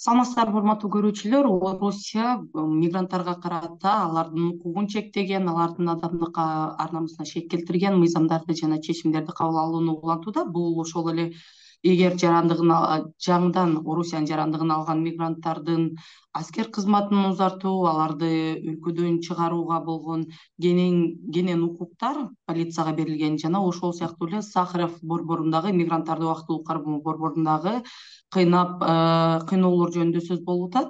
Саламатсыздарбы, урматтуу көрүүчүлөр. Орусия мигранттарга карата алардын укугун чектеген, алардын адамдык ар намысына шек келтирген мыйзамдарды жана чечимдерди кабыл алууну улантууда. Бул ошол эле эгер жаңыдан Орусиянын жарандыгын алган мигранттардын аскер кызматын узартуу, аларды өлкөдөн чыгарууга болгон кенен укуктар полицияга берилген жана ошол сыяктуу эле Сахаров борборундагы мигранттарды убактылуу кармоо борборундагы кыйноолор жөнүндө сөз болуп атат.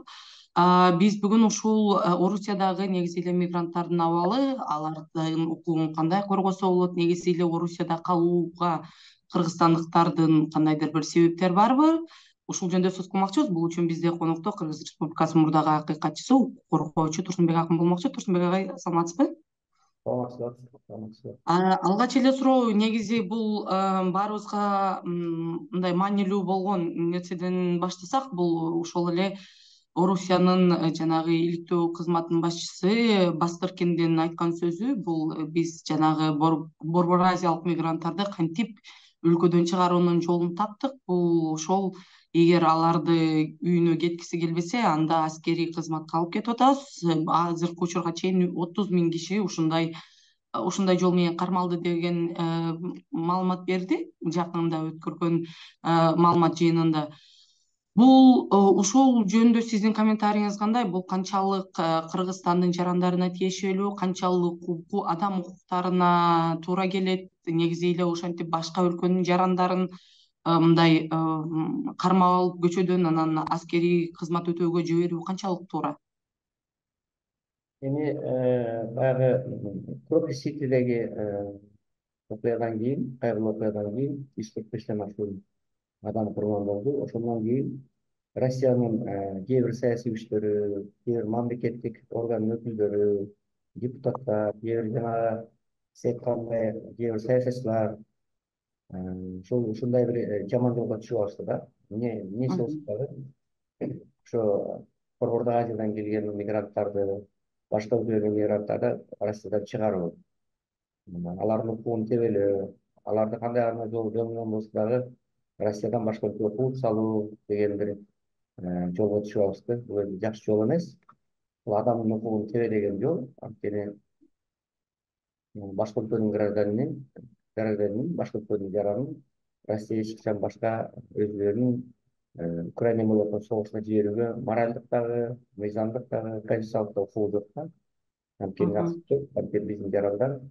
Биз бүгүн ушул Орусиядагы негизи эле мигранттардын абалы, алардын укугун кандай коргосо болот, негизи эле Орусияда калууга кыргызстандыктардын кандайдыр бир себептери барбы? Ушул жөнүндө сөз кылмакчыбыз. Бул үчүн бизде конокто Кыргыз Республикасынын мурдагы акыйкатчысы, укук коргоочу Турсунбек акын болмокчу. Турсунбек агай, саламатсызбы? Саламатсыздар. Алгач эле суроо, негизи бул баарыбызга мындай маанилүү болгон нерседен баштасак, бул ошол эле Орусиянын жанагы иликтөө кызматынын башчысы Бастыркиндин айткан сөзү. Бул биз жанагы Борбор Азиялык мигранттарды кантип өлкөдөн чыгаруунун жолун таптык. Бул ошол эгер аларды үйүнө кеткиси келбесе, анда аскерий кызматка алып кетип атабыз. Азыркы учурга чейин 30.000 киши ушундай жол менен кармалды деген маалымат берди жакында өткөргөн маалымат жыйынында. Бул ушул жөнүндө сиздин комментарийиңиз кандай? Бул канчалык Кыргызстандын жарандарына тиешелүү, канчалык адам укуктарына туура келет? Негизи эле ошентип башка өлкөнүн жарандарын мындай кармап алып көчөдөн анан аскерий кызмат өтөөгө жиберүү канчалык туура? Эми баягы Крокус-Ситидеги окуядан кийин, кайгылуу окуядан кийин 145ден ашуун адам курман болду. Ошондон кийин Россиянын кээ бир саясий күчтөрү, кээ бир мамлекеттик органдын өкүлдөрү, депутаттар, кээ бир жанагы сиз айткандай кээ бир саясатчылар ушундай бир жаман жолго түшүп алышты да. Эмнеси болсо дагы ошо Борбордук Азиядан келген мигранттарды, башка өлкөлөрдөн мигранттарды Россиядан чыгаруу, алардын укугун тебелөө, аларды кандай гана жол менен болсо дагы Россиядан башка өлкөгө кууп салуу деген бир жолго түшүп алышты. Бул эми жакшы жол эмес. Бул адамдын укугун тебелеген жол. Анткени башка өлкөнүн гражданинин, башка өлкөнүн жаранын Россия эч качан башка өзүлөрүнүн Украина менен болгон согушуна жиберүүгө моралдык дагы, мыйзамдык дагы, конституциялык да укугу жок да. Анткени анткени биздин жарандар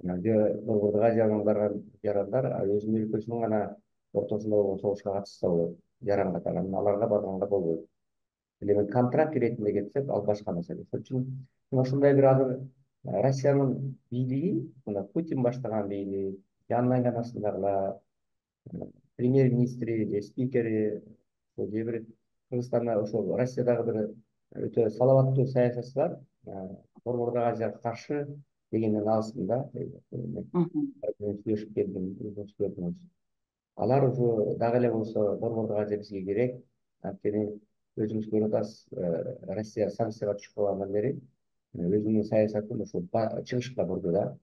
Борбордук Азиядан барган жарандар өзүнүн өлкөсүнүн гана ортосунда болгон согушка катышса болот, жаран катары. Анан аларга барганга болбойт. Эми контракт иретинде кетсек, ал башка маселе. Ошон үчүн ушундай бир азыр Россиянын бийлиги, мына Путин баштаган бийлик, жанын айланасындагылар, премьер-министри же спикери, же бир Кыргызстанда ошол Россиядагы бир өтө салаваттуу саясатчылар Борбордук Азияга каршы дегенден алсын да. Сүйлөшүп келдим. Алар уже дагы эле болсо Борбордук Азия бизге керек. Анткени өзүңүз көрүп атасыз, Россия санкцияга түшүп калгандан бери өзүнүн саясатын ушул чыгышка бурду да.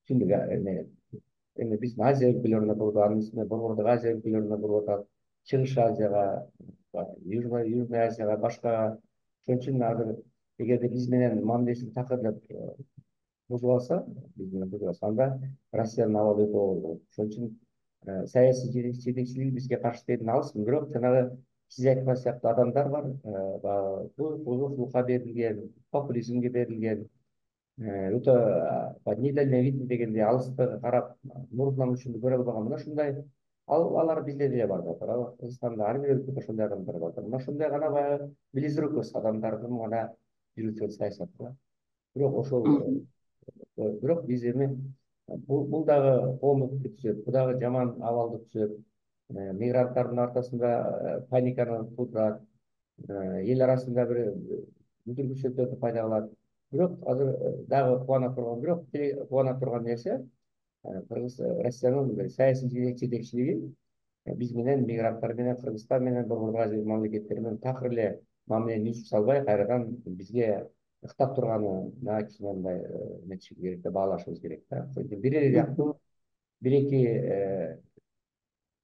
Түндүк эми биздин Азия өлкөлөрүнө бурду, анын үстүнө Борбордук Азия өлкөлөрүнө буруп атат, Чыгыш Азияга, Южный Азияга, башка. Ошон үчүн азыр эгерде биз менен мамилесин такыр бузуп алса, анда Россиянын абалы өтө оор болот. Ошон үчүн саясий жетекчилиги бизге каршы дегенден алыспын. Бирок жанагы сиз айткан сыяктуу адамдар бар, бузукулукка берилген, популизмге берилген, өтө недальновидный дегендей алыстыгы карап, мурдунан учунду көрө албаган. Мына ушундай алар бизде деле бар да. Кыргызстанда ар бир өлкөдө ошондой адамдар бар. Мына ушундай гана баягы близорукость адамдардын гана жүргүзгөн саясаты. Бирок биз эми бул дагы коомдукту түзөт, бул дагы жаман абалды түзөт. Мигранттардын ортосунда паниканы туудурат, эл арасында бир мүдүргүчтүктөрдү пайда кылат. Бирок азыр дагы кубана турган нерсе, Россиянын саясий жетекчилиги биз менен, мигранттар менен, Кыргызстан менен, Борбордук Азия мамлекеттери менен такыр эле мамилени үзүп салбай, кайрадан бизге ыктап турганына кичине мындай нетишибиз керек да, баалашыбыз керек да. Бир эле жактуу бир эки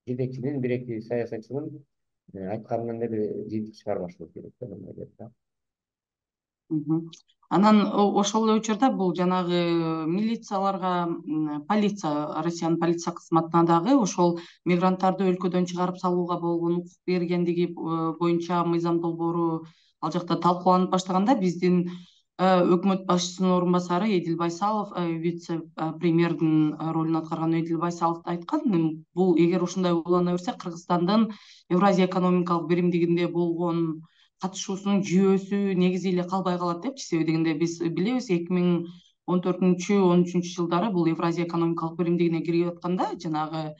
жетекчинин, бир эки саясатчынын айтканынан эле бир жыйынтык чыгарбашыбыз керек да мындай деп. Анан ошол эле учурда бул жанагы милицияларга, полиция, Россиянын полиция кызматына дагы ошол мигранттарды өлкөдөн чыгарып салууга болгон укук бергендиги боюнча мыйзам долбоору ал жакта талкууланып баштаганда биздин өкмөт башчысынын орун басары Эдил Байсалов, вице премьердин ролун аткарган Эдил Байсалов айткан, бул эгер ушундай улана берсе Кыргызстандын Евразия экономикалык биримдигинде болгон катышуусунун жүйөөсү негизи эле калбай калат депчи. Себеби дегенде биз билебиз 2014-13 жылдары бул Евразия экономикалык биримдигине кирип атканда жанагы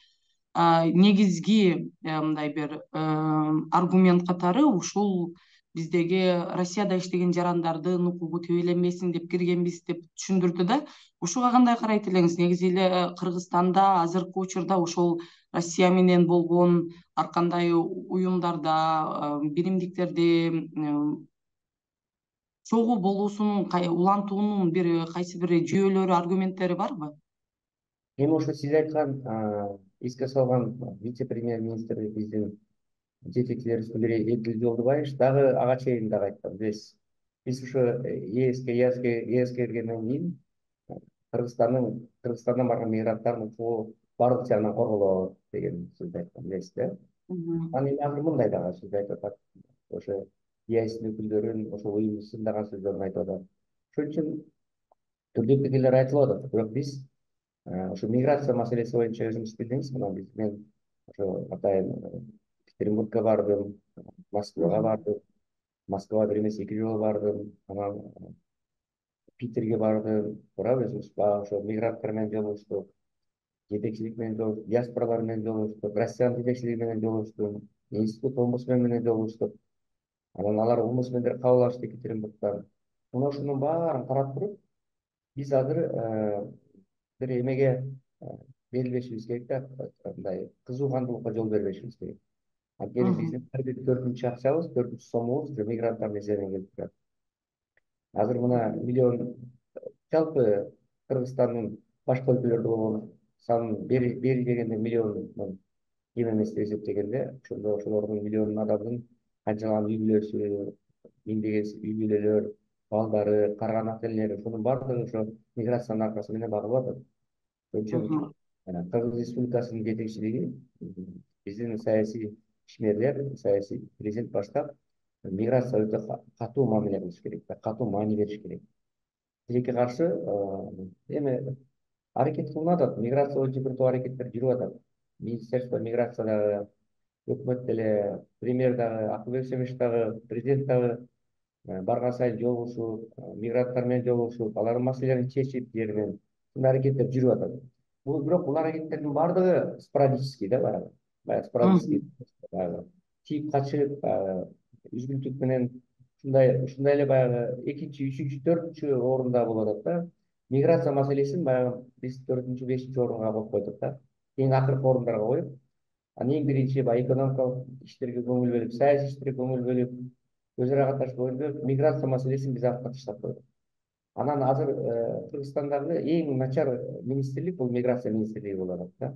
негизги мындай бир аргумент катары ушул биздеги Россияда иштеген жарандардын укугу тебеленбесин деп киргенбиз деп түшүндүрдү да. Ушуга кандай карайт элеңиз? Негизи эле Кыргызстанда азыркы учурда ошол Россия менен болгон ар кандай уюмдарда, биримдиктерде чогуу болуусунун, улантуунун кайсы бир жүйөлөрү, аргументтери барбы? Эми ошо сиз айткан эске салган вице премьер министр биздин жетекчилерибиздин бири Эдил Жолдубаевич дагы ага чейин дагы айткан. Биз ошо ЕСке киргенден кийин Кыргызстандан барган мигранттардын укугу баардык жагынан корголот деген сөздү айткан, билесиз да. Анан эми азыр мындай дагы сөз айтып атат. Ошо ЕСтин өкүлдөрүн, ошо уюмду сындаган сөздөрүн айтып атат. Ошон үчүн түрдүү пикирлер айтылып атат. Бирок биз ошо миграция маселеси боюнча өзүңүз билдиңиз, мен ошо атайын Екатеринбургка бардым, Москвага бардым. Москвага бир эмес 2 жолу бардым. Анан Питерге бардым. Туура өзүбүз баягы ошо мигранттар менен жолугуштук, жетекчилик менен жолугуштук, диаспоралар менен жолугуштук, Россиянын жетекчилиги менен жолугуштук, институт омбудсмен менен жолугуштук. Анан алар омбудсмендер кабыл алышты Екатеринбургтан. Мына ошонун баарын карап туруп, биз азыр бир эмеге берилбешибиз керек да, мындай кызуу кандуулукка жол бербешибиз керек. Анткени биздин ар бир 4-үнчү акчабыз, 4-үнчү сомубуз ушу мигранттардын эсебинен келип турат. Азыр мына миллион жалпы Кыргызстандын башка өлкөлөрдө болгон санын бери дегенде миллиондон кем эмес деп эсептегенде, ошолордун миллион адамдын канчалаган үй бүлөсү, миңдеген үй бүлөлөр, балдары, карыган ата энелери, ошонун баардыгы ошо миграциянын аркасы менен багылып атат. Ошон үчүн Кыргыз Республикасынын жетекчилиги, биздин саясий ишмерлер, саясий президент баштап, миграцияга өтө катуу мамиле кылыш керек, катуу маани бериш керек. Тилекке каршы эми аракет кылынып атат, миграция боюнча бир топ аракеттер жүрүп атат. Министерство миграция дагы, өкмөт деле, премьер дагы, Акылбек Семиш дагы, президент дагы барган сайын жолугушуп, мигранттар менен жолугушуп, алардын маселелерин чечип жери менен ушундай аракеттер жүрүп атат. Бирок бул аракеттердин баардыгы спорадический да, баягы спорадический, баягы тийип качып, үзгүлтүк менен ушундай эле баягы 2-, 3-, 4-үнчү орунда болуп атат да. Миграция маселесин баягы биз 4-, 5-чи орунга коюп койдук да. Эң акыркы орундарга коюп, анан эң биринчи баягы экономикалык иштерге көңүл бөлүп, саясий иштерге көңүл бөлүп, өз ара катнашып койгондо миграция маселесин биз артка таштап койдук. Анан азыр Кыргызстандагы эң начар министрлик бул миграция министрлиги болуп атат да.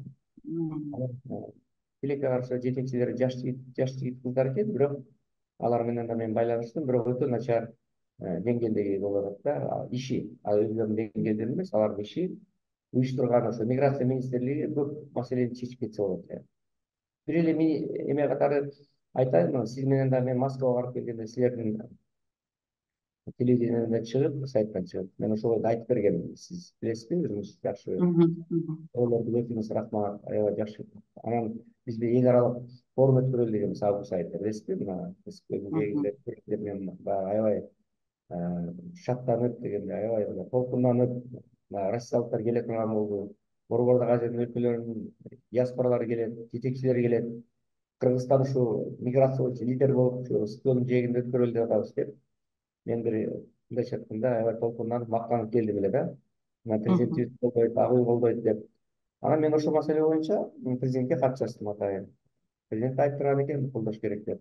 Тилекке каршы жетекчилери жаш жигит кыздар экен, бирок алар менен да мен байланыштым, бирок өтө начар деңгээлдеги болуп атат да. Иши өзүлөрүнүн деңгээлдеринде эмес, алардын иши уюштурган ошо миграция министрлиги көп маселени чечип кетсе болот. Бир эле эме катары айтайын, сиз менен да мен Москвага барып келгенде силердин телевидениеден чыгып, сайттан чыгып, мен ошолорду айтып бергенмин. Сиз билесизби, өзүңүз жакшы ойлорду көрдүңүз, рахмат, аябай жакшы. Анан бизде эл аралык форум өткөрүлдү дегенбиз август айында, билесизби? Мына көзүмдөгүлөр мен аябай шаттанып дегенде, аябай толкунданып, россиялыктар келе турган болду. Борбордук Азиянын өлкөлөрүнүн диаспоралары келет, жетекчилери келет. Кыргызстан ушу миграция боюнча лидер болуп, столдун жээгинде өткөрөлү деп атабыз деп. Мен бир мындайча айтканда аябай толкунданып, мактанып келдим эле да. Мына президентибиз колдойт, ак үй колдойт деп. Анан мен ошол маселе боюнча президентке кат жаздым атайын. Президент айтып турган экен, колдош керек деп.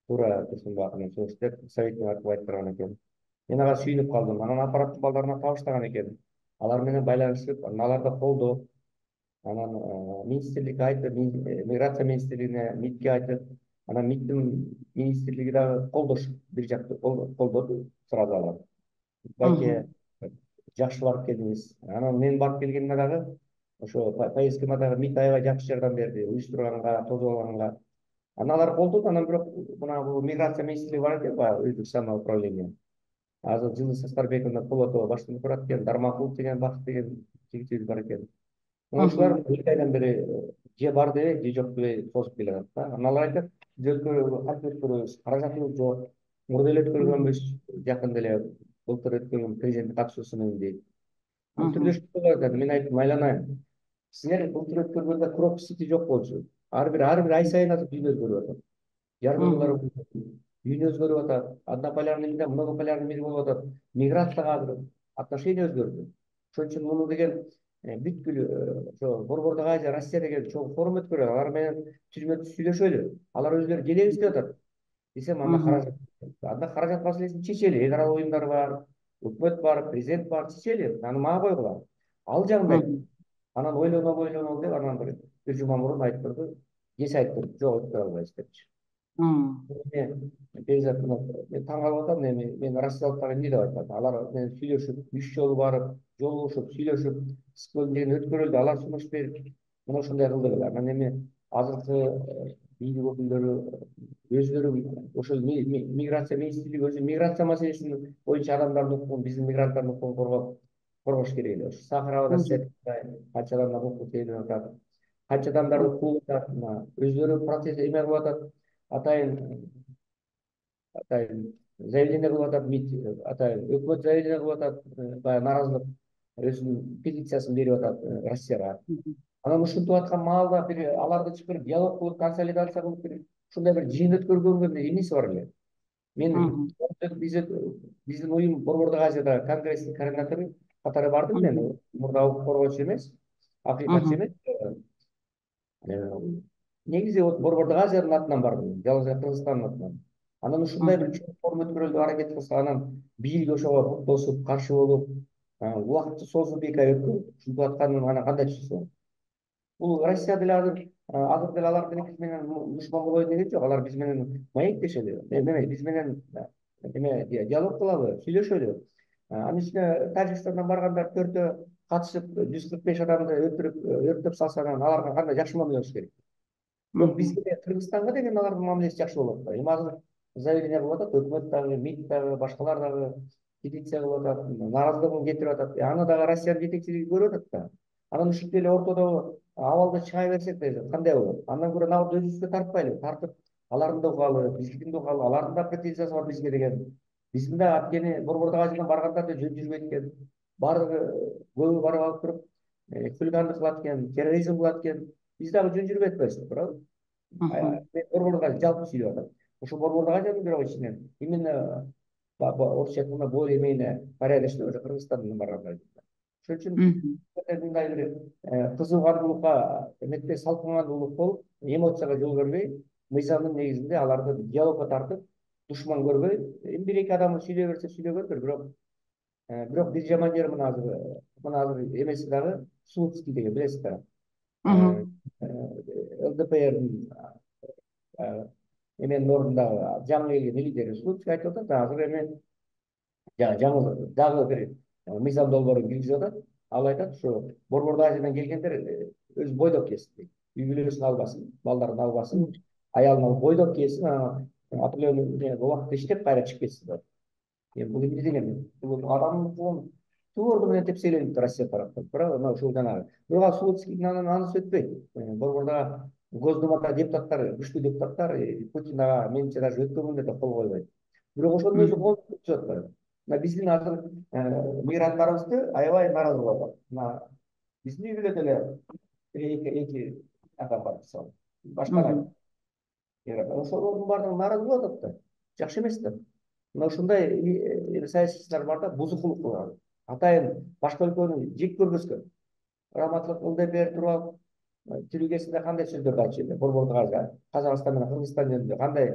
Туура Турсунбаев менен чогуш деп, советтин айтып турган экен. Мен ага сүйүнүп калдым. Анан аппараттын балдарына табыштаган экен. Алар менен байланышып, анан алар да колдоп, анан министрликке айтып, миграция министрлигине, МИДке айтып, Анан МИДтин министрлиги дагы бир жакты колдоду сразу алар. Байке жакшы барып келдиңиз. Анан мен барып келгенимде дагы ошо поездкама дагы МИД аябай жакшы жардам берди, уюштурганга, тосуп алганга. Анан алар колдоду, анан бирок мына бул миграция министрлиги бар экен, баягы өздүк самое управление. Азыр Жылы Састарбековна Полотова баштап турат экен, Дармакулов деген Бакыт деген жигитибиз бар экен. Ошолар 2 айдан бери же бар дебей, же жок дебей созуп келатат да. Анан алар айтат, биз кантип өткөрөбүз, каражатыбыз жок, мурда эле өткөргөнбүз, жакында эле былтыр өткөргөн президенттин катышуусу менен дейт. Бул түрдөшүп атат. Мен айттым, айланайын. Силер былтыр өткөргөндө пропуск жок болчу. Ар бир ай сайын атып дүйнө өзгөрүп атат. Жаргылуулар дүйнө өзгөрүп атат. Однополярный мире, многополярный мир болуп атат. Миграцияга азыр отношение өзгөрдү. Ошон үчүн муну деген бүткүл ошо Борбордук Азия, Россия деген чоң форум өткөрөт. Алар менен түзмө сүйлөшөлү. Алар өзлөрү келебиз деп атат. Десем, анда каражат маселесин чечели. Эл аралык уюмдар бар, өкмөт бар, президент бар, чечели. Аны мага койгула. Ал жагында анан ойлоно деп анан бир жума мурун айтып турду. Кеч айттым, жок өткөрө албайбыз депчи. Бекзат, мен таң калып атам, мен Россиялыктар эмне деп айтат. Алар менен сүйлөшүп, 3 жолу барып, жолугушуп, сүйлөшүп, сквонден өткөрүлдү, алар сунуш берип, мына ушундай кылды эле. Анан эми азыркы бийлик өкүлдөрү өзлөрү ошол миграция министрлиги өзү миграция маселесин боюнча адамдардын укугун, биздин мигранттардын укугун коргош керек эле. Сахарова канча адамдар укук тейлеп атат, канча адамдарды кууп атат, өзлөрү процесс эме кылып атат, атайын заявление кылып атат, МИД атайын өкмөт заявление кылып атат, баягы нааразылык өзүнүн петициясын берип атат Россияга. Анан ушинтип аткан маалда бир аларды чакырып диалог кылып, консолидация кылып бир ушундай бир жыйын өткөргөнгө эмеси бар эле. Мен биздин уюм Борбордук Азиядагы конгресстин координатору катары бардым мен. Мурда укук коргоочу эмес, акыйкатчы эмес. Негизи Борбордук Азиянын атынан бардым, жалгыз Кыргызстандын атынан. Анан ушундай бир чоң форум өткөрөлдү, аракет кылса, анан бийлик ошого буктосуп, каршы болуп, убакытты созуп 2 ай өткөрүп, ушинтип атканын анан кандай түшүнсөң? Бул Россия деле азыр деле алар менен душман болоюн деген жок. Алар биз менен маектешели. Биз менен эме диалог кылалы, сүйлөшөлү. Анын үстүнө Тажикстандан баргандар 4-тө катышып 145 адамды өлтүрүп, өрттөп салса, анан аларга кандай жакшы мамиле кылыш керек. Бирок бизге, Кыргызстанга деген алардын мамилеси жакшы болуп атпайбы? Эми азыр заявление кылып атат, өкмөт дагы, МИД дагы, башкалар дагы петиция кылып атат, нааразылыгын кетирип атат. Аны дагы Россиянын жетекчилиги көрүп атат да. Анан ушинтип эле ортодо абалда чыга берсек кандай болот? Андан көрө набы өзүбүзгө тартпайлы, тартып алардын да угалы, биздикин да угалы, алардын да претензиясы бар бизге деген. Биздин да анткени Борбордук Азиядан баргандар да жөн жүрбөйт экен. Баардыгы көбү барып алып туруп хулигандык кылат экен, терроризм кылат экен. Биз дагы жөн жүрбөй атпайбызбы, туурабы? Борбордук Азия жалпы сүйлөп атат. Ошо Борбордук Азиянын бирок ичинен именно орусча айтканда более-менее порядочный уже Кыргызстандан баргандар. Ошон үчүн мындай бир кызыгандуулукка, эметпей салкындуулук болуп, эмоцияга жол бербей, мыйзамдын негизинде аларды диалогко тартып, душман көрбөй, эми 1-2 адам сүйлөй берсе сүйлөгөндүр, бирок бир жаман жери мына азыр эмеси дагы Слуцкий деген, билесиз да. ЛДПРдин эменин ордундагы жаңы келген лидери Слуцкий айтып атат, азыр эми жаңы дагы бир мыйзам долбоорун киргизип атат. Ал айтат, ушу Борбордук Азиядан келгендер өз бойдок келсин дейт. Үй бүлөсүн албасын, балдарын албасын, аялын алып бойдок келсин, определенный убакытта иштеп кайра чыгып кетсин деп. Бул эмне деген? Бул адамдын укугун туурду менен тепселенип Россия тараптан. Мына ушул жанагы. Бирок Слуцкийдин анысы өтпөйт. Борбордагы Госдумада депутаттар, күчтүү депутаттар Путин ага менимче даже өткөнгөндө да кол койбойт. Бирок ошонун өзү кол көтөрүп атпайбы? Мына биздин азыр мигранттарыбызды аябай нааразы кылып атат. Мына биздин үй бүлөдө эле эки адам бар, мисалы. Башкалар. Ошолордун баардыгы нааразы болуп атат да. Жакшы эмес да. Мына ушундай саясатчылар бар да, бузукулук кылган. Атайын башка өлкөнү жек көрбөскө. Раматлык ЛДПР туруп алып, тилүү кезинде кандай сөздөрдү айтчу эле, Борбордук Азия, Казакстан менен Кыргызстан жөнүндө кандай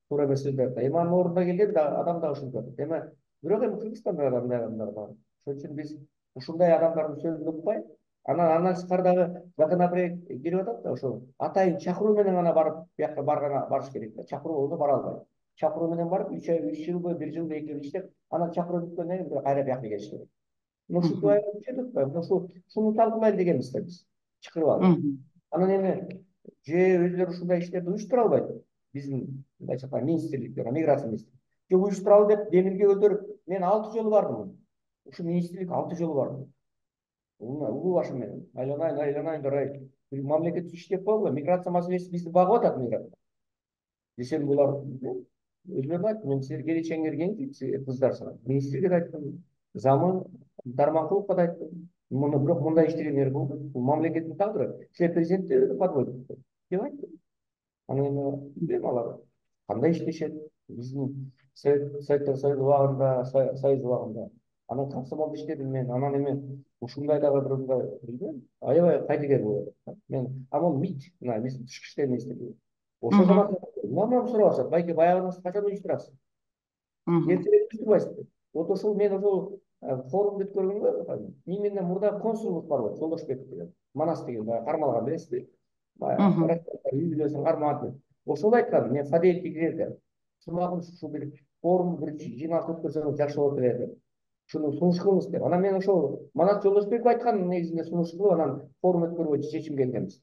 туура эмес сөздөрдү. Эми анын ордуна келген адам да ушинтип атат. Бирок эми Кыргызстанда да мындай адамдар бар. Ошон үчүн биз ушундай адамдардын сөзүн укпай, Андан тышкары дагы законопроект кирип атат да, ошол атайын чакыруу менен гана барып бияка барыш керек да. Чакыруу болсо бара албайт. Чакыруу менен барып 3 ай, 3 жылбы, 1 жылбы, 2 жыл иштеп, анан чакыруу бүткөндөн кийин кайра бияка келиш керек. Ушинтип аябай күчөтүп атпайбы? Ушуну талкуулайлы дегенбиз да биз. Чакырып алып. Анан эми же өзүлөрү ушундай иштерди уюштура албайбы? Биздин мындайча айтканда министрликтер, миграция министрлиги. Же уюштуралы деп демилге көтөрүп, мен 6 жолу бардым. Ушу министрлик 6 жолу бардым. Улуу башым менен айланайын жарай. Мамлекет иштеп койгула, миграция маселеси бизди багып атат миграция. Десем булар өзүлөрү айтты, мен силер келечегиңер кең кыздарсыңар. Министрге да айттым, замы Дарманкуловго да айттым. Бирок мындай иштегендер бул мамлекеттин тагдыры. Силер президентти подводит деп айттым. Анан эми билбейм алар кандай иштешет. Биздин Советтер Союзу убагында, Союз убагында. Анан комсомолдо иштедим мен. Анан эми ушундай дагы бир мындай билбейм. Аябай кайдыгер болуп атат. Мен амал МИД, мына биздин тышкы иштер министрлиги. Ошол замат мамам сурап атышат. Байке, баягынысы качан уюштурасыз? Эртерээк уюштурбайсызбы? Вот ошол мен ошол форумду өткөргөнгө именно мурда консулдук бар болчу, Жолдошбеков деген, Манас деген, баягы кармалган, билесизби? Баягы үй бүлөсүн кармаган. Ошол айткан, мен Фадеевке кирерде. Сумагын ушу бир форум бир жыйналыш өткөрсөңүз жакшы болот эле. Ушуну сунуш кылыңыз деп. Анан мен ошол Манас Жолдошбеков айткан негизинде сунуш кылып, анан форум өткөрүүгө чечим келгенбиз.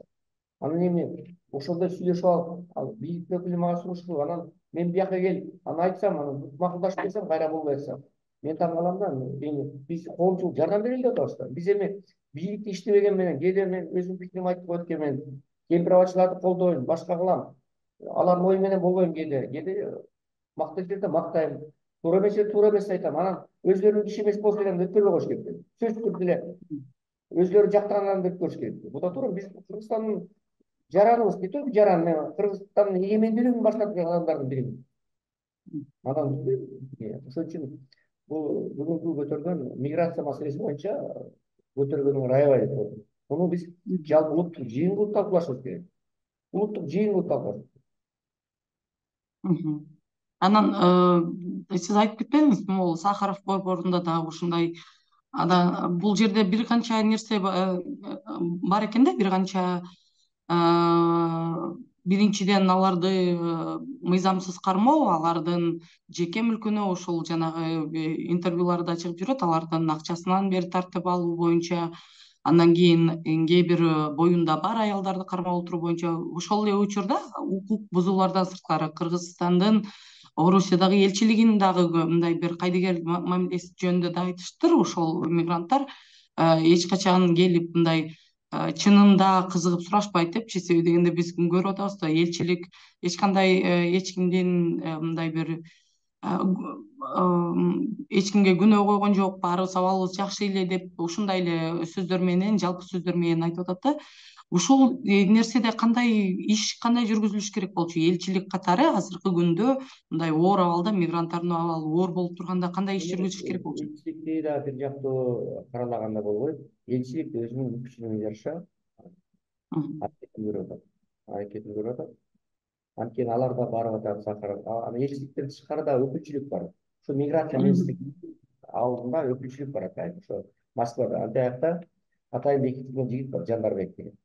Анан эми ошондой сүйлөшүп алып, бийликтин өкүлү мага сунуш кылып, анан мен бияка келип, анан айтсам, анан макулдашып келсем, кайра болбой атса, мен таң калам да. Эми биз коомчулук жардам берели деп атабыз да. Биз эми бийликте иштебеген менен, кээде мен өзүмдүн пикиримди айтып коет экенмин, кемпир-абалчыларды колдойм, башка кылам. Алардын ою менен болбойм кээде мактап жерде мактайм, туура эмес жерде туура эмес айтам. Анан өзүлөрүнүн киши эмес болсо деле өткөрбөй коюш керек. Сөзсүз түрдө эле өзүлөрү жактагандан өткөрүш керек. Бул да туура. Биз Кыргызстандын жараныбыз, не только жаран, мен Кыргызстандын эгемендүүлүгүн баштатқан адамдардын биримин. Анан ошон үчүн бул бүгүнкү көтөргөн миграция маселеси боюнча көтөргөнүңөр аябай деп көрдүм. Муну биз жалпы улуттук жыйын кылып талкуулашыбыз керек. Улуттук жыйын кылып талкуулашыбыз керек. Анан сиз айтып кетпедиңизби, могул Сахаров борборунда дагы ушундай бул жерде бир канча нерсе бар экен да, бир канча биринчиден аларды мыйзамсыз кармоо, алардын жеке мүлкүнө ушул жанагы интервьюларда чыгып жүрөт, алардын акчасынан бери тартып алуу боюнча, андан кийин кээ бир боюнда бар аялдарды кармап отуруу боюнча. Ошол эле учурда укук бузуулардан сырткары Кыргызстандын Орусиядагы элчилигинин дагы мындай бир кайдыгер мамилеси жөнүндө да айтыштыр. Ошол мигранттар эч качан келип мындай чынында кызыгып сурашпайт депчи. Себеби дегенде биз көрүп атабыз да, элчилик эч кандай эч кимдин мындай бир эч кимге күнөө койгон жок, баарыбыз абалыбыз жакшы эле деп ушундай эле сөздөр менен, жалпы сөздөр менен айтып атат да. Ушул нерседе кандай жүргүзүлүш керек болчу? Элчилик катары азыркы күндө мындай оор абалда, мигранттардын абалы оор болуп турганда кандай иш жүргүзүш керек болчу? Элчиликти да бир жактуу каралаганда болбойт. Элчилик өзүнүн мүмкүнчүлүгүнө жараша аракетин көрүп атат. Анткени алар да барып атат Сахаров. Анан элчиликтен тышкары да өкүлчүлүк бар. Ушу миграция министрлиги алдында өкүлчүлүк бар атайын. Ошо Москвада антиякта атайын бекитилген жигит бар, Жандарбек деген.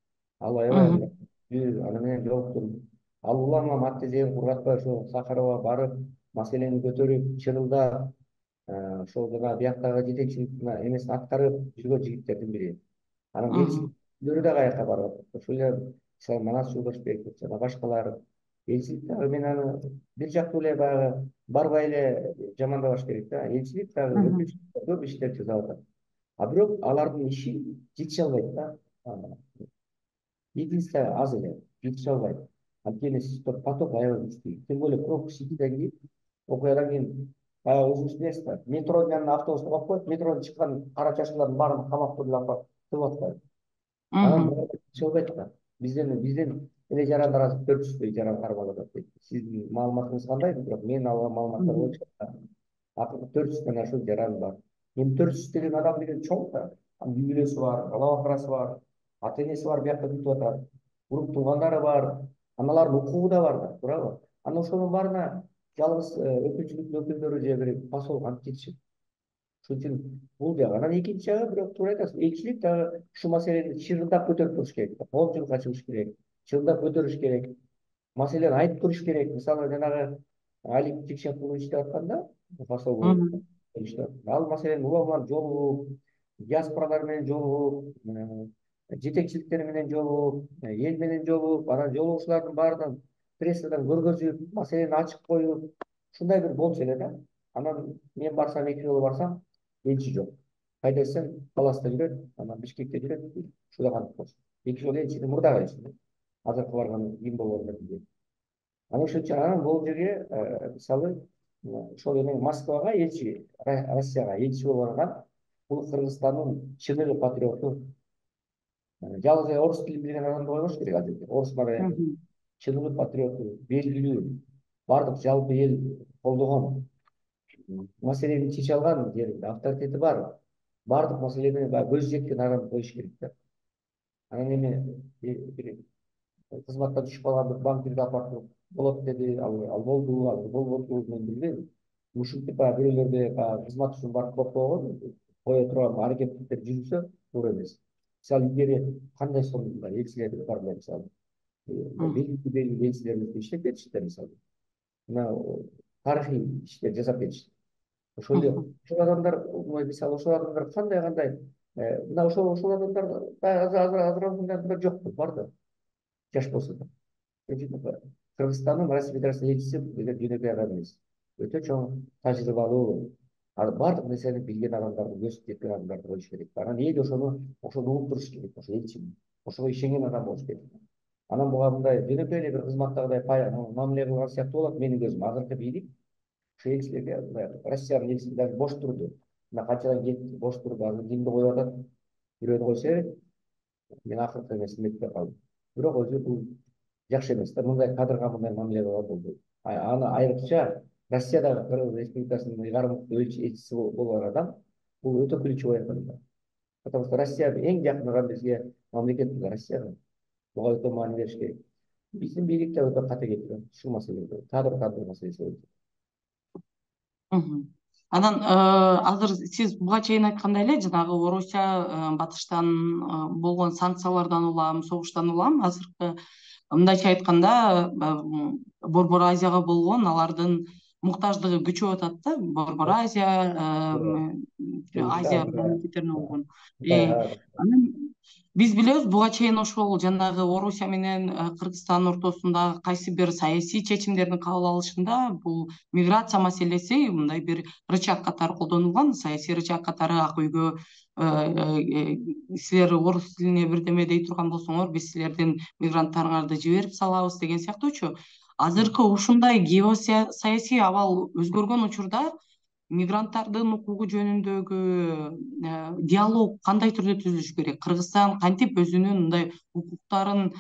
Ал аябай аны менен жолуктум. Ал улам ат тезегин кургатпай ошо Сахарова барып, маселени көтөрүп, чырылдап, ошол жана бияктагы жетекчилик эмесин аткарып жүргөн жигиттердин бири. Анан элчиликтери дагы аяка барып атат. Ошол эле Манас Жолдошбеков жана башкалар. Элчилик дагы мен аны бир жактуу эле баягы барбай эле жамандабаш керек да. Элчилик дагы өкүлчүлүк көп иштер жасап атат. Бирок алардын иши жетише албайт да. Единство аз эле, жетише албайт. Анткени поток аябай күчтүү. Тем более пробка Ситиден кийин, окуядан кийин өзүңүз билесиз да, метронун янына автобус коюп коет, метродон чыккан кара чачкылардын баарын камап туруп атпайбы. Анан жетише албайт да. Бизден эле жарандар азыр 400 жаран кармалып атат дейт. Сиздин маалыматыңыз кандай? Бирок мен алган маалыматтар боюнча акыры 400дөн ашуун жаран бар. Эми 400 деген адам деген чоң да. Үй бүлөсү бар, бала бакырасы бар, ата энеси бар, биякта күтүп атат. Урук туугандары бар, аналардын укугу да бар да, туурабы? Анан ошонун баарына жалгыз өкүлчүлүктүн өкүлдөрү же бир посол кантип жетишет? Ошон үчүн бул жагы. Анан экинчи жагы, бирок туура айтасыз, элчилик дагы ушул маселени чырылдап көтөрүп туруш керек, коомчулукка чыгыш керек, чырылдап көтөрүш керек, маселени айтып туруш керек. Мисалы жанагы Алик Жекшенкулов иштеп атканда, посол болуп иштеп атканда, ал маселени улам жолугуп, диаспоралар менен жолугуп, жетекчиликтер менен жолугуп, эл менен жолугуп, анан жолугушуулардын баарынан прессадан көргөзүп, маселени ачык коюп, ушундай бир болчу эле да. Анан мен барсам, 2 жолу барсам, элчи жок. Кайда десем, Таласта жүрөт, анан Бишкекте жүрөт, ушуга кантип болчу. 2 жолу элчини мурдагы элчи, азыркы барган ким болгону билбейм. Анан ошон үчүн анан бул жерге мисалы ошол эме Москвага элчи, Россияга элчи болуп барган бул Кыргызстандын чыныгы патриоту, жалгыз эле орус тилин билген адамды койбош керек ал жерде. Орус маданиятын чыныгы патриоту, белгилүү, бардык жалпы эл колдогон, маселени чече алган жеринде авторитети бар, бардык маселени баягы көзү жеткен адамды коюш керек да. Анан эми бир кызматтан түшүп калган бир банкирди алып барып болот деди, ал болду, ал болбоду, мен билбейм. Ушинтип баягы бирөөлөрдө баягы кызмат үчүн барып койгон, кое турган аракеттер жүрүлсө туура эмес. Мисалы илгери кандай сонун элчилер бар эле, мисалы белгилүү элчилерибиз иштеп кетишти мисалы. Мына тарыхый иштер жасап кетишти. Ошол эле ошол адамдар, мисалы ошол адамдар кандай мына ошол адамдар азыр жокпу, бар да, жаш болсо да. Кыргызстандын Россия Федерациясынын элчиси деген жөнөкөй адам эмес. Өтө чоң тажрыйбалуу, бардык нерсени билген адамдарды, көз жеткен адамдарды коюш керек. Анан эл ошону угуп керек, ошо элчини. Ошого ишенген адам болуш керек. Анан буга мындай жөнөкөй эле бир кызматтагыдай мамиле кылган сыяктуу болот менин көзүм. Азыркы бийлик ошо элчилерге Россиянын элчиси даже бош турду. Мына канчадан кетти, бош турду. Азыр кимди коюп атат? Бирөөнү койсо керек. Мен акыркы эмесин эметпей калдым. Бирок өзү бул жакшы эмес да, мындай кадрга мындай мамиле кылган болбойт. Аны айрыкча Россиядагы Кыргыз Республикасынын ыйгарым элчиси болгон адам бул өтө ключевой адам да. Потому что Россия эң жакын бизге мамлекет Россия. Буга өтө маани бериш керек. Биздин бийлик да өтө кате кеткен ушул маселеде. Кадр маселеси боюнча. Анан азыр сиз буга чейин айткандай эле жанагы Орусия батыштан болгон санкциялардан улам, согуштан улам азыркы мындайча айтканда Борбор Азияга болгон алардын муктаждыгы күчөп атат да. Борбор Азия, Азия мамлекеттерине болгон. Анан биз билебиз, буга чейин ошол жанагы Орусия менен Кыргызстандын ортосундагы кайсы бир саясий чечимдердин кабыл алышында бул миграция маселеси мындай бир рычаг катары колдонулган, саясий рычаг катары. Ак үйгө силер орус тилине бирдеме дей турган болсоңор, биз силердин мигранттарыңарды жиберип салабыз деген сыяктуучу. Азыркы ушундай геосаясий абал өзгөргөн учурда мигранттардын укугу жөнүндөгү диалог кандай түрдө түзүлүш керек? Кыргызстан кантип өзүнүн мындай укуктарын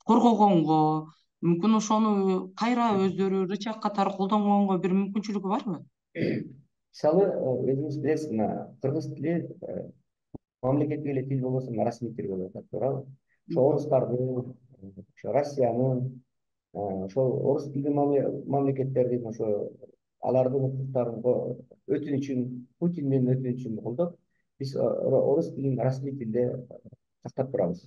коргогонго, мүмкүн ошону кайра өздөрү рычаг катары колдонгонго бир мүмкүнчүлүгү барбы? Мисалы өзүңүз билесиз, мына кыргыз тили мамлекеттик эле тил болбосо расмий тил болуп атат, туурабы? Ошо орустардын, ошо Россиянын, ошол орус тилдүү мамлекеттердин ошо алардын укуктарын өтүнүчүн, Путин менен өтүнүчүн колдоп, биз орус тилин расмий тилде сактап турабыз.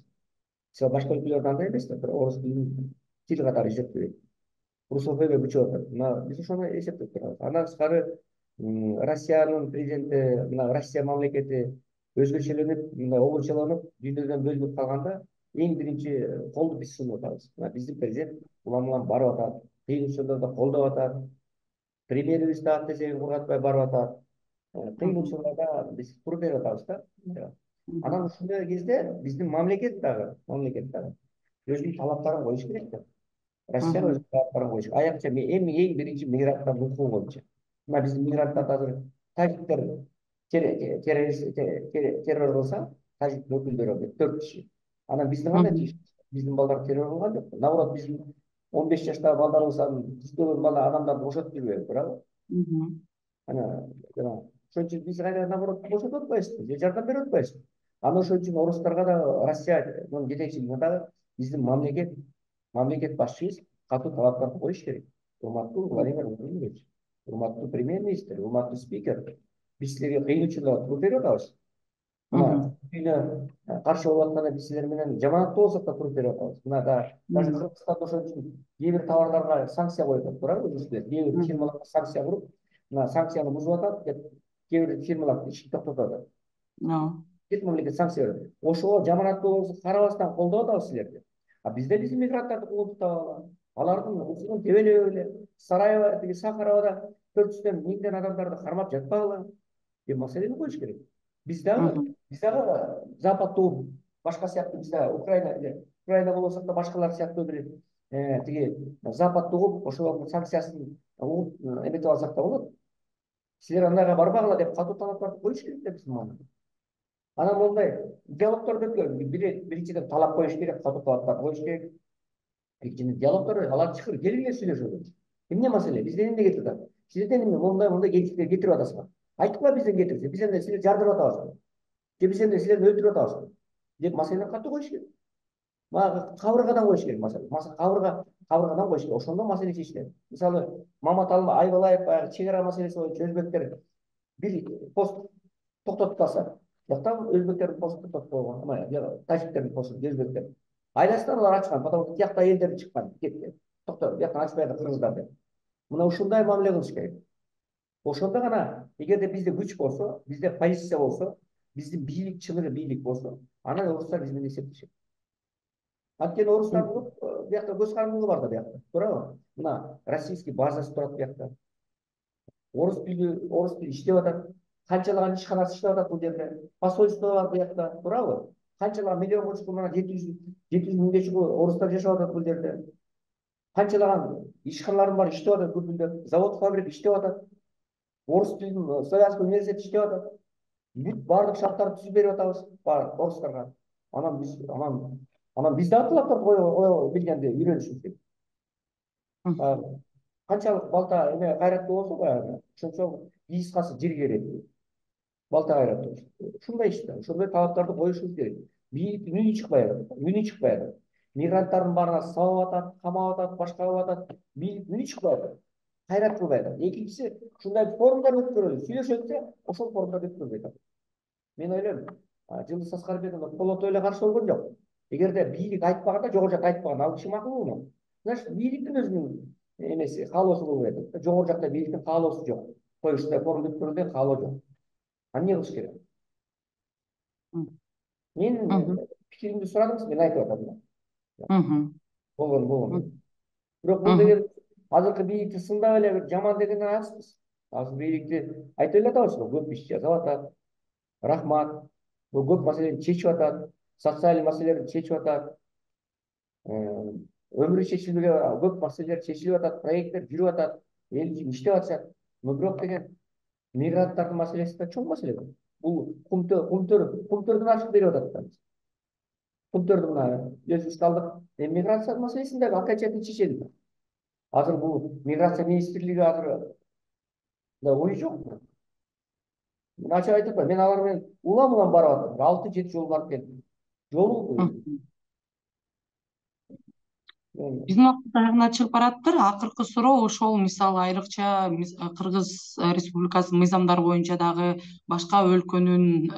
Мисалы башка өлкөлөрдө андай эмес да, орус тилин тил катары эсептебейт. Русофобия күчөп атат. Мына биз ошону эсептеп турабыз. Андан тышкары Россиянын президенти, мына Россия мамлекети өзгөчөлөнүп, мындай обурчаланып, дүйнөдөн бөлүнүп калганда эң биринчи колду биз сунуп атабыз. Мына биздин президент улам барып атат, кыйын учурларда колдоп атат, премьерибиз да ат эсегин кургатпай барып атат. Кыйын учурларда биз туруп берип атабыз да. Анан ушундай кезде биздин мамлекет дагы өзүнүн талаптарын коюш керек да. Россия өзүнүн талаптарын коюш. Аякча эң биринчи мигранттардын укугу боюнча. Мына биздин мигранттарды азыр тажиктер террор кылса, тажиктин өкүлдөрү 4 киши. Анан биздин кандай чыгыш? Биздин балдар террор кылган жок. Наоборот, биздин 15 жаштагы балдарыбыздан кыз көргөн бала адамдарды бошотуп жүрбөйбү, туурабы? Ана ошон үчүн биз кайра наоборот бошотуп атпайбызбы, же жардам берип атпайбызбы? Аны ошон үчүн орустарга да, Россиянын жетекчилигине дагы биздин мамлекет башчыбыз катуу талаптарды коюш керек. Урматтуу Владимир Владимирович, урматтуу премьер-министр, урматтуу спикер, биз силерге кыйын учурда туруп берип атабыз. Мына үйүнө каршы болуп атканда биз силер менен жаманаттуу болсок да туруп берип атабыз. Мына даже Кыргызстан ошон үчүн кээ бир товарларга санкция коюп атат, туурабы өзүңүздөр? Кээ бир фирмаларга санкция куруп, мына санкцияны бузуп атат деп кээ бир фирмалар ишин токтотуп атат. Чет мамлекет санкция берет. Ошого жаманаттуу болсо карабастан колдоп атабыз силерди. А бизде биздин мигранттарды куугунтуктап алардын укугун тебелеп эле Сараево тиги Сахаровада 400 миңден адамдарды кармап жатпагыла деп маселени коюш керек. Биз дагы западтуу башка сыяктуу биз дагы Украина болсок да башкалар сыяктуу бир тиги западты угуп ошолордун санкциясын угуп эметип алсак да болот. Силер андайга барбагыла деп катуу талаптарды коюш керек да биздин мамлекет. Анан мондай диалогторду биринчиден талап коюш керек, катуу талаптарды коюш керек. Экинчиден диалогтор алар чакырып келгиле сүйлөшөлү. Эмне маселе? Бизден эмне кетип атат? Силерден эмне мондай кетиштер кетирип атасыңар? Айтпа бизден кетирсе, биз эмне силерди жардырып атабызбы? Же биз эмне силерди өлтүрүп атабызбы? Деп маселени катуу коюш керек. Мага кабыргадан коюш керек маселе. Кабыргадан коюш керек. Ошондо маселе чечилет. Мисалы, Мамат Айбалаев баягы чек ара маселеси боюнча өзбектер бир пост токтотуп калса, жакта өзбектердин посту токтотуп койгон, тажиктердин посту, өзбектер. Айдасынан алар ачкан, потому что тиякта элдер чыккан, кетти. Токтоп, бияктан ачпайт кыргыздар деп. Мына ушундай мамиле кылыш керек. Ошондо гана, эгерде бизде күч болсо, бизде позиция болсо, биздин бийлик чыныгы бийлик болсо, анан орустар биз менен эсептешет. Анткени орустардын биякта көз карандылыгы бар да биякта, туурабы? Мына российский базасы турат биякта. Орус тили иштеп атат. Канчалаган ишканасы иштеп атат бул жерде. Посольство бар биякта, туурабы? Канчалаган миллионго чукул, мына 700 миңге чукул орустар жашап атат бул жерде. Канчалаган ишканалардын баары иштеп атат, бүт завод, фабрика иштеп атат. Орус тилин славянский университет иштеп атат. Бүт баардык шарттарды түзүп берип атабыз орустарга. Анан биз дагы талаптарды кое билгенди үйрөнүшүбүз керек. Канчалык балта эме кайраттуу болсо баягы, ошончо кыскасы жер керек. Балта кайраттуу. Ушундай иште, ошондой талаптарды коюшубуз керек. Бийликтин үнү чыкпай атат. Мигранттардын баарына сабап атат, камап атат, башка кылып атат. Бийликтин үнү чыкпай атат. Кайрат кылбай атат. Экинчиси, ушундай форумдар өткөрөлү, сүйлөшөлү, ошол форумдарды өткөрбөй атат. Мен ойлойм, Жылдыз Аскарбекова колото эле каршы болгон жок. Эгерде бийлик айтпаганда, жогору жакта айтпаган, ал киши макулму? Значит, бийликтин өзүнүн эмеси, каалоосу болуп атат. Жогору жакта бийликтин каалоосу жок. Коюштай форум өткөрүүгө каалоо жок. Эмне кылыш керек? Мен пикиримди сурадыңыз, мен айтып атам. Болгон. Бирок бул деген азыркы бийликти сындап эле бир жаман дегенден алыспыз. Азыр бийликти айтып эле атабыз, көп иш жасап атат. Рахмат. Бул көп маселени чечип атат, социалдык маселелерди чечип атат. Өмүрү чечилбеген көп маселелер чечилип атат, проекттер жүрүп атат, эл үчүн иштеп атышат. Бирок деген мигранттардын маселеси да чоң маселе. Бул кумтөрдүн ачып берип атат. Кумтөрдү мына өзүбүз калдык. Миграция маселесин дагы окончательно чечели. Азыр бул миграция министрлиги азыр да ой жок. Мен ачык айтып атам, мен алар менен улам барып атам. 6-7 жол барып келдим. Жолу биздин убакыт аягына чыгып бараттыр. Акыркы суроо ошол, мисалы айрыкча Кыргыз Республикасынын мыйзамдары боюнча дагы башка өлкөнүн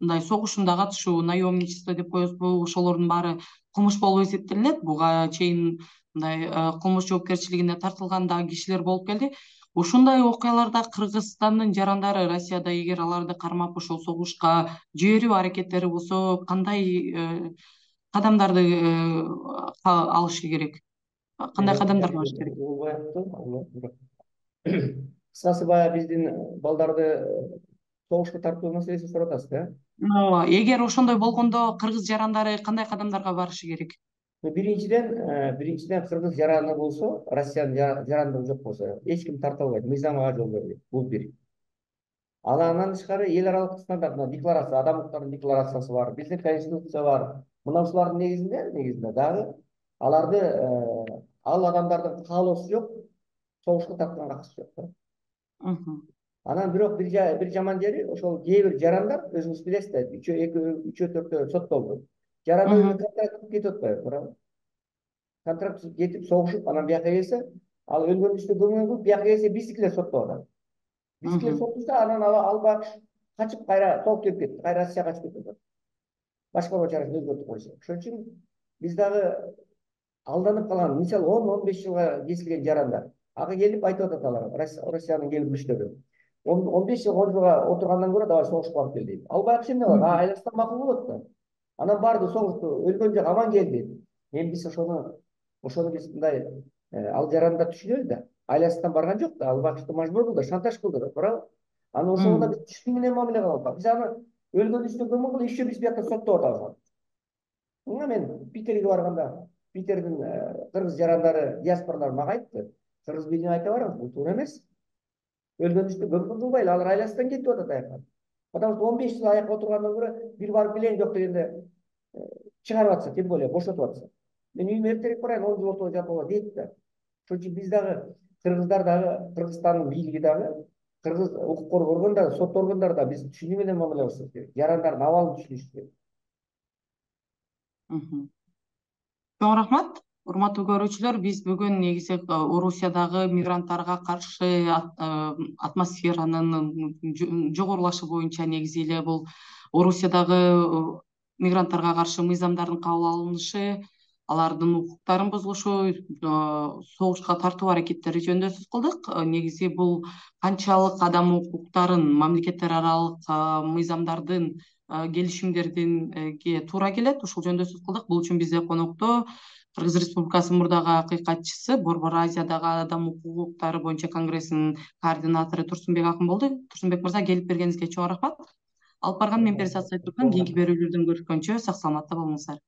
мындай согушунда катышуу, наемничество деп коебузбу, ошолордун баары кылмыш болуп эсептелинет. Буга чейин мындай кылмыш жоопкерчилигине тартылган дагы кишилер болуп келди. Ушундай окуяларда Кыргызстандын жарандары Россияда эгер аларды кармап ошол согушка жиберүү аракеттери болсо, кандай кадамдарды алышы керек? Кандай кадамдарга барыш керек? Кыскасы баягы биздин балдарды согушка тартуу маселесин сурап атасыз да? Ооба. Эгер ошондой болгондо кыргыз жарандары кандай кадамдарга барышы керек? Биринчиден кыргыз жараны болсо, Россиянын жарандыгы жок болсо, эч ким тарта албайт, мыйзамга жол бербейт. Бул бир. Андан тышкары эл аралык стандарт, декларация, адам укуктарынын декларациясы бар, биздин конституция бар. Мына ушулардын негизинде дагы аларды ал адамдардын каалоосу жок, согушка тартканга акысы жок. Анан бирок бир жаман жери, ошол кээ бир жарандар, өзүңүз билесиз да, 3-4 соттолду. Жаран контракт кетип атпайбы, туурабы? Контракт кетип согушуп, анан бияка келсе, ал өлгөн үстү көмөк кылып, бияка келсе биздикилер соттоп атат. Бизге сотушса анан албак качып кайра толуп келип кетти, кайра Россияга качып кетти. Башкаруу чарасын өзгөртүп койсо. Ошон үчүн биз дагы алданып калган, мисалы 10-15 жылга кесилген жарандар. Ага келип айтып атат алар, Россиянын келгүлүчтөрү. 15 жыл, 10 жылга отургандан көрө давай согушка барып кел дейт. Албак эмне кылат? Айласынан макул болот да. Анан барды согушту, өлгөн жок, аман келди. Биз ошону биз мындай ал жаранды да түшүнөбүз да. Айласынан барган жок да, албакчты мажбур кылды, шантаж кылды да, туурабы? Анан ошого да биз түшүнүү менен мамиле кылып атабыз. Биз аны өлгөн үстүнө көмүп кылып, еще биз биякта соттоп атабыз. Мен Питерге барганда, Питердин кыргыз жарандары, диаспоралар мага айтты. Кыргыз бийлигине айта барыңыз, бул туура эмес. Өлгөн үстүнө көмүп кылбайлы, алар айласынан кетип атат аяка. Потому что 15 жыл аякка отургандан көрө бир барып келейин жок дегенде чыгарып атса, тем более бошотуп атса. Мен үйүмө эртерээк барайын, 10 жыл отуруп жатууга дейт да. Ошон үчүн биз дагы, кыргыздар дагы, Кыргызстандын бийлиги дагы, кыргыз укук коргоо органдары, сот органдары да биз түшүнүү менен мамиле кылышыбыз керек. Жарандардын абалын түшүнүш керек. Чоң рахмат. Урматтуу көрүүчүлөр, биз бүгүн негизи Орусиядагы мигранттарга каршы атмосферанын жогорулашы боюнча негизи эле бул Орусиядагы мигранттарга каршы мыйзамдардын кабыл алынышы, алардын укуктарын бузулушу, согушка тартуу аракеттери жөнүндө сөз кылдык. Негизи бул канчалык адам укуктарын, мамлекеттер аралык мыйзамдардын, келишимдердинге туура келет, ушул жөнүндө сөз кылдык. Бул үчүн бизде конокто Кыргыз Республикасынын мурдагы акыйкатчысы, Борбор Азиядагы адам укуктары боюнча конгрессинин координатору Турсунбек Акын болду. Турсунбек мырза, келип бергениңизге чоң рахмат. Алып барган мен Перизат Сайтуркан. Кийинки берүүлөрдөн көрүшкөнчө сак саламатта болуңуздар.